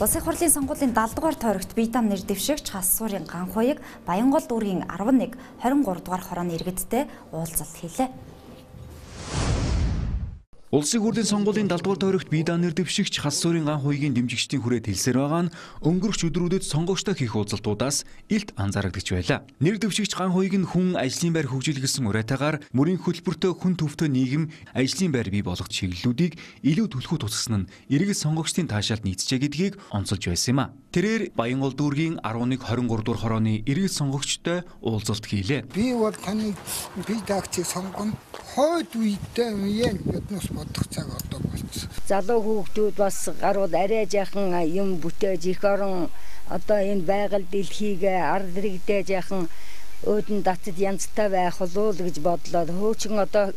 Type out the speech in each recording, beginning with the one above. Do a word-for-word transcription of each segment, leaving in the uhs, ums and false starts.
Улсын хурлын сонгуулийн даал дугаар тойрогт Бийдан нэр дэвшигч Хасуурын Ганхуйг Баянгол дүүргийн арван нэг хорин гурав дугаар хорооны иргэдтэй уулзалт хийлээ. Улсын хурлын сонгуулийн даал дугаар тойрогт Бийдан нэр дэвшигч Хасуурын Ганхуйгийн дэмжигчдийн хүрээ хэлсээр байгаа нь өнгөрөх өдрүүдэд сонгогчтой хийх уулзалтуудаас илт анзаарагдж байлаа. Нэр дэвшигч Ганхуйг нь хүн ажлын байр хөгжүүлгэсэн уриатаагаар мөрийн хөтөлбөртөө хүн төвтэй нийгэм ажлын байр бий болгох чиглэлүүдийг илүү түлхүү тусгасан нь иргэд сонгогчдын таашаалд нийцжээ гэдгийг онцолж байсан юм а. Тэрээр Баянгол дүүргийн арван нэг хорин гурав дугаар хорооны иргэд сонгогчтой уулзалт хийлээ. Би бол таны бие даагчийг сонгоно. Хойд үедээ юм биднес бодох цаг одоо болчихсон. Залуу хүүхдүүд бас гарууд арай жаахан юм бүтээж их орон одоо энэ байгаль дэлхийг ард иргэдээ жаахан өөдөн татад янзтай байх болов уу гэж бодлоо. Хөөчгөн одоо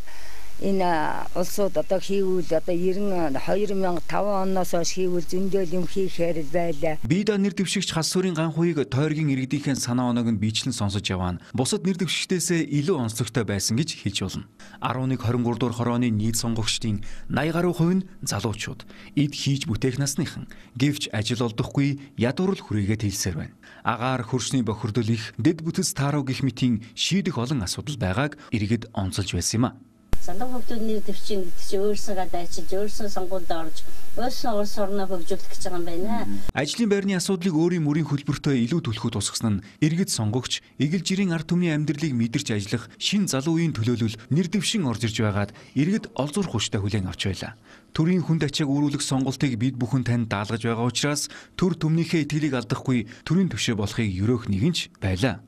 энэ улсууд одоо хийвэл одоо хоёр мянга таван оноос хойш хийвэл зөндөл юм хийхээр байлаа. Бийдан нэр дэвшигч Хасуурын Ганхуйг тойргийн иргэдийнхээ санаа оноог нь бичлэн сонсож яваа нь бусад нэр дэвшигчдээс илүү онцлогтой байсан гэж хэлж болно. арван нэг хорин гурав дугаар хорооны нийт сонгогчдын наяа гаруй хувь нь залуучууд, эд хийж бүтээх насныхан. Гэвч ажил олдохгүй ядуурл хүрээгээд хэлсээр байна. Агаар хөрсний бохирдол их, дэд бүтэц тааруу гэх мэтийн шийдэх олон асуудал байгааг иргэд онцолж байсан юм а. Санаа хөгжүүлэх нэр дэвшин гэдэг чинь өөрсөөгөө дайчилж, өөрсөө сонгуульд орж, өөрсөө улс орноо хөгжүүлэх гэж байгаа юм байна. Ажлын байрны асуудлыг өөрийн мөрийн хөтөлбөртөө илүү түлхүү тусгасан нь иргэд сонгогч, эгэл жирийн ард түмний амьдралыг мэдэрч ажиллах шин залуу үеийн төлөөлөл нэр дэвшин орж ирж байгаад иргэд олзуурах хүчтэй хүлээн авч байлаа. Төрийн хүнд ачааг үүрүүлэх сонголтыг бид бүхэн танд даалгаж байгаа учраас төр түмнийхээ итгэлийг алдахгүй төрийн төвшөө болохыг ерөөх нэгэнч байлаа.